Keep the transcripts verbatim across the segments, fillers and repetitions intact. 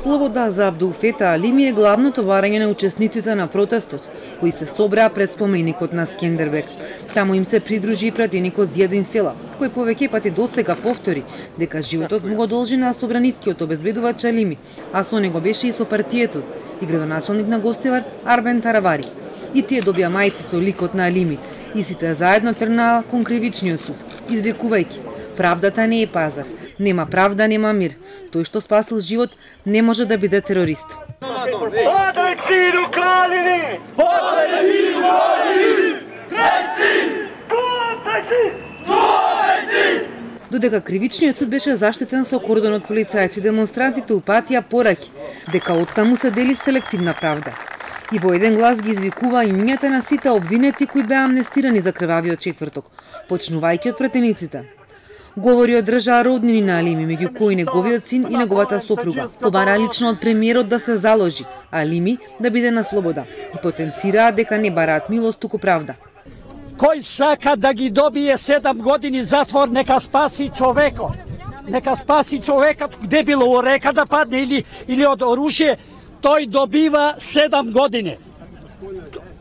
Слобода за Абдулфета Алими е главното барање на учесниците на протестот, кои се собраа пред споменикот на Скендербек. Таму им се придружи и пратеникот Зијадин Села, кој повеќе пати досега повтори дека животот му го должи на собранискиот обезбедувач Алими, а со него беше и со партиетот и градоначалник на Гостивар Арбен Таравари. И тие добија мајци со ликот на Алими и сите заедно тргнаа кон кривичниот суд, извикувајќи: правдата не е пазар, нема правда, нема мир. Тој што спасил живот не може да биде терорист. Додека кривичниот суд беше заштитен со кордон од полицајци, демонстрантите упатија пораки дека оттаму се дели селективна правда. И во еден глас ги извикува имињата на сите обвинети кои беа амнестирани за крвавиот четврток, почнувајќи од претениците. Говори од држаа роднини на Алими, меѓу кои неговиот син и неговата сопруга. Побара лично од премиерот да се заложи Алими да биде на слобода и потенцираа дека не бараат милост, туку правда. Кој сака да ги добие седам години затвор, нека спаси човекот. Нека спаси човекот, где било во река да падне или или од оружје, тој добива седам години.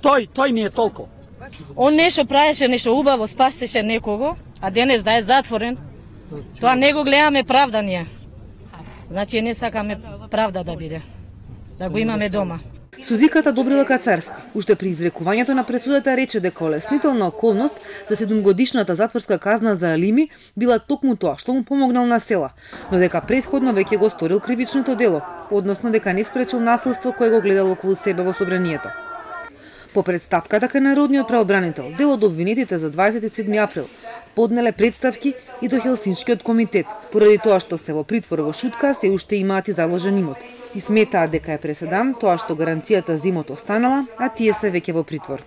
Тој, тој ми е толку. Он нешто правеше, нешто убаво, спасеше некого, а денес да е затворен. Тоа не го гледаме правда ние. Значи не сакаме правда да биде. Да го имаме дома. Судиката Добрила Кацарски уште при изрекувањето на пресудата рече дека олеснителна околност за седумгодишната затворска казна за Алими била токму тоа што му помогнал на Села, но дека претходно веќе го сторил кривичното дело, односно дека не спречил насилство кое го гледал околу себе во собранието. По представката кај народниот правобранител, дел од обвинетите за дваесет и седми април поднеле представки и до Хелсиншкиот комитет, поради тоа што се во притвор во Шутка се уште имаат и заложен имот. И сметаат дека е преседан тоа што гаранцијата за имот останала, а тие се веќе во притвор.